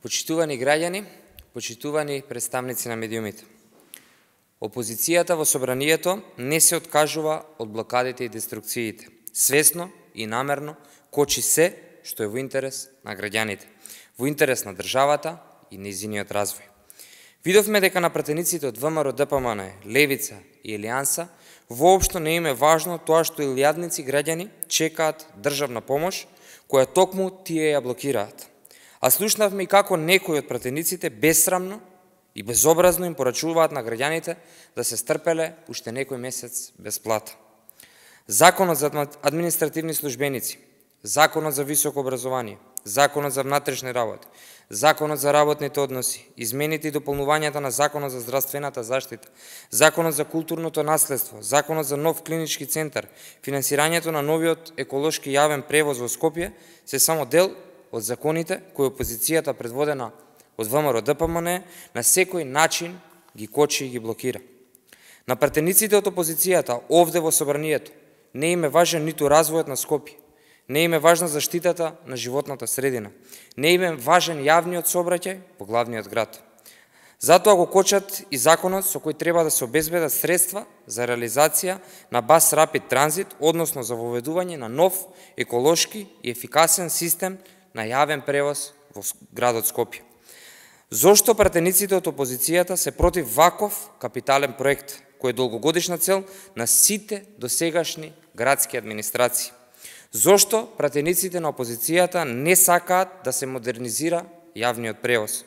Почитувани граѓани, почитувани представници на медиумите. Опозицијата во собранието не се откажува од блокадите и деструкциите. Свесно и намерно кочи се што е во интерес на граѓаните, во интерес на државата и нејзиниот развој. Видовме дека на пратениците од ВМРО, ДПМН, Левица и Елијанса воопшто не им е важно тоа што илјадници граѓани чекаат државна помош, која токму тие ја блокираат. А слушнавме и како некои од пратениците бесрамно и безобразно им порачуваат на граѓаните да се стрпеле уште некој месец без плата. Законот за административни службеници, Законот за високо образование, Законот за внатрешни работи, Законот за работните односи, измените и дополнувањата на Законот за здравствената заштита, Законот за културното наследство, Законот за нов клинички центар, финансирањето на новиот еколошки јавен превоз во Скопје се само дел од законите кои опозицијата предводена од ВМРО, ДПМН на секој начин ги кочи и ги блокира. На пратениците од опозицијата овде во собранието не им е важен ниту развојот на Скопје, не им е важна заштитата на животната средина, не им е важен јавниот сообраќај во главниот град. Затоа го кочат и законот со кој треба да се обезбедат средства за реализација на Бас Рапид Транзит, односно за воведување на нов еколошки и ефикасен систем на јавен превоз во градот Скопје. Зошто пратениците од опозицијата се против ваков капитален проект, кој е долгогодишна цел на сите досегашни градски администрации? Зошто пратениците на опозицијата не сакаат да се модернизира јавниот превоз?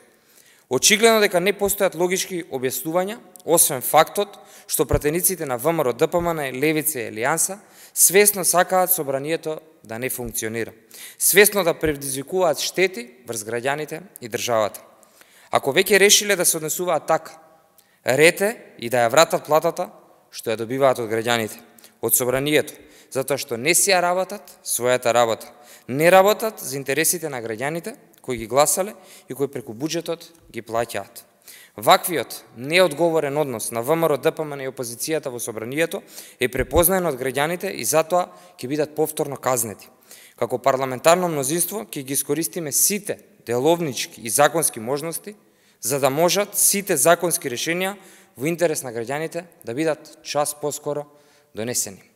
Очигледно дека не постојат логички објаснувања, освен фактот што пратениците на ВМРО, ДПМН, Левица и Елијанса свесно сакаат собранието да не функционира, свесно да предизвикуваат штети врз граѓаните и државата. Ако веќе решиле да се однесуваат така, ред е и да ја вратат платата што ја добиваат од граѓаните, од собранието, затоа што не си ја работат својата работа, не работат за интересите на граѓаните кои ги гласале и кои преку буџетот ги плаќаат. Ваквиот неодговорен однос на ВМРО, ДПМН и опозицијата во собранието е препознаен од граѓаните и затоа ќе бидат повторно казнети. Како парламентарно мнозинство ќе ги искористиме сите деловнички и законски можности за да можат сите законски решенија во интерес на граѓаните да бидат час поскоро донесени.